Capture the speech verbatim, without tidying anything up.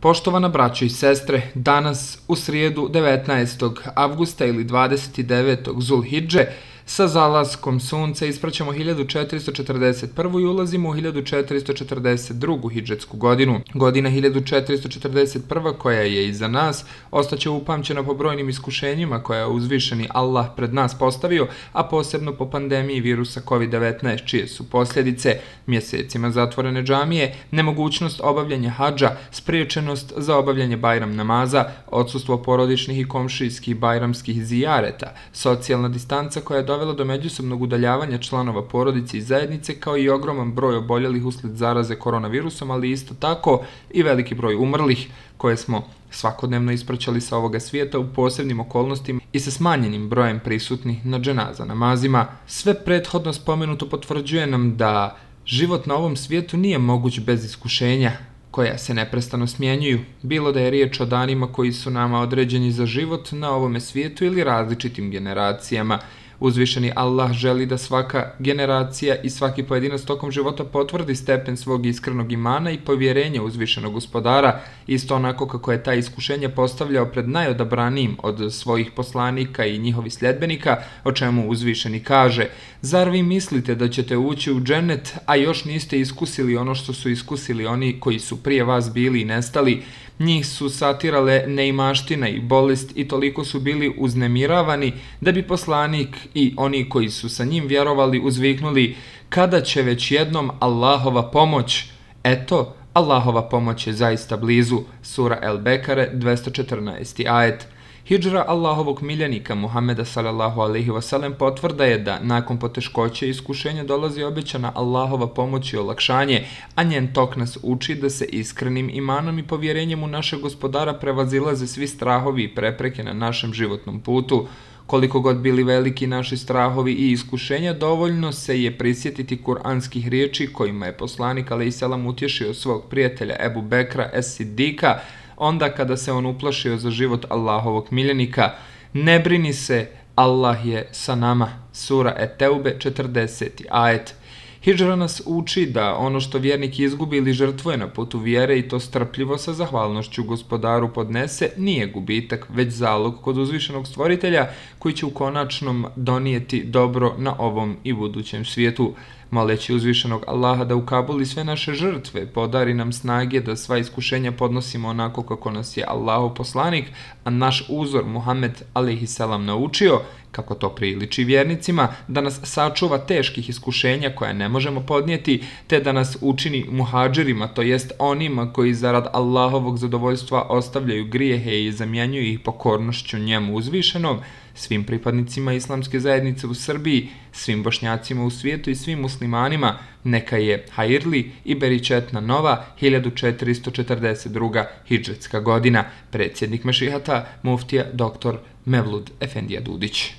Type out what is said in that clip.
Poštovana braćo i sestre, danas u srijedu devetnaestog avgusta ili dvadeset devetog Zulhidže sa zalaskom sunca ispraćamo hiljadu četiristo četrdeset prvu i ulazimo u hiljadu četiristo četrdeset drugu hidžetsku godinu. Godina hiljadu četiristo četrdeset prva koja je iza nas ostaće upamćena po brojnim iskušenjima koja je uzvišeni Allah pred nas postavio, a posebno po pandemiji virusa kovid devetnaest, čije su posljedice mjesecima zatvorene džamije, nemogućnost obavljanja hadža, spriječenost za obavljanje bajram namaza, odsustvo porodičnih i komšijskih bajramskih zijareta, socijalna distanca koja je dovela do međusobnog udaljavanja članova porodice i zajednice, kao i ogroman broj oboljelih usled zaraze koronavirusom, ali isto tako i veliki broj umrlih koje smo svakodnevno ispraćali sa ovoga svijeta u posebnim okolnostima i sa smanjenim brojem prisutnih na dženaza namazima. Sve prethodno spomenuto potvrđuje nam da život na ovom svijetu nije moguć bez iskušenja koja se neprestano smjenjuju, bilo da je riječ o danima koji su nama određeni za život na ovome svijetu ili različitim generacijama. Uzvišeni Allah želi da svaka generacija i svaki pojedinac tokom života potvrdi stepen svog iskrenog imana i povjerenja uzvišenog gospodara, isto onako kako je taj iskušenje postavljao pred najodabranijim od svojih poslanika i njihovih sljedbenika, o čemu uzvišeni kaže: zar vi mislite da ćete ući u džennet, a još niste iskusili ono što su iskusili oni koji su prije vas bili i nestali? Njih su satirale neimaština i bolest i toliko su bili uznemiravani da bi poslanik i oni koji su sa njim vjerovali uzviknuli: kada će već jednom Allahova pomoć? Eto, Allahova pomoć je zaista blizu. Sura El Bekare, dvesta četrnaesti ajet. Hidžra Allahovog miljenika Muhameda sallallahu alejhi ve sellem potvrda je da nakon poteškoće i iskušenja dolazi obećana Allahova pomoć i olakšanje, a njen tok nas uči da se iskrenim imanom i povjerenjem u našeg gospodara prevazilaze svi strahovi i prepreke na našem životnom putu. Koliko god bili veliki naši strahovi i iskušenja, dovoljno se je prisjetiti kuranskih riječi kojima je poslanik alejselam utješio svog prijatelja Ebu Bekra es-Sidika onda kada se on uplašio za život Allahovog miljenika: ne brini se, Allah je sa nama. Sura Et-Teube, četrdeseti ajet. Hidžra nas uči da ono što vjernik izgubi ili žrtvuje na putu vjere i to strpljivo sa zahvalnošću gospodaru podnese, nije gubitak, već zalog kod uzvišenog stvoritelja koji će u konačnom donijeti dobro na ovom i budućem svijetu. Moleći uzvišenog Allaha da ukabuli sve naše žrtve, podari nam snage da sva iskušenja podnosimo onako kako nas je Allahov poslanik, a naš uzor Muhammed alejhiselam naučio, kako to priliči vjernicima, da nas sačuva teških iskušenja koja ne možemo podnijeti, te da nas učini muhadžirima, to jest onima koji zarad Allahovog zadovoljstva ostavljaju grijehe i zamjenjuju ih pokornošću njemu uzvišenom, svim pripadnicima islamske zajednice u Srbiji, svim Bošnjacima u svijetu i svim muslimanima, neka je hajirli i beričetna nova hiljadu četiristo četrdeset druga hidžetska godina. Predsjednik Mešihata, muftija doktor Mevlud Efendija Dudić.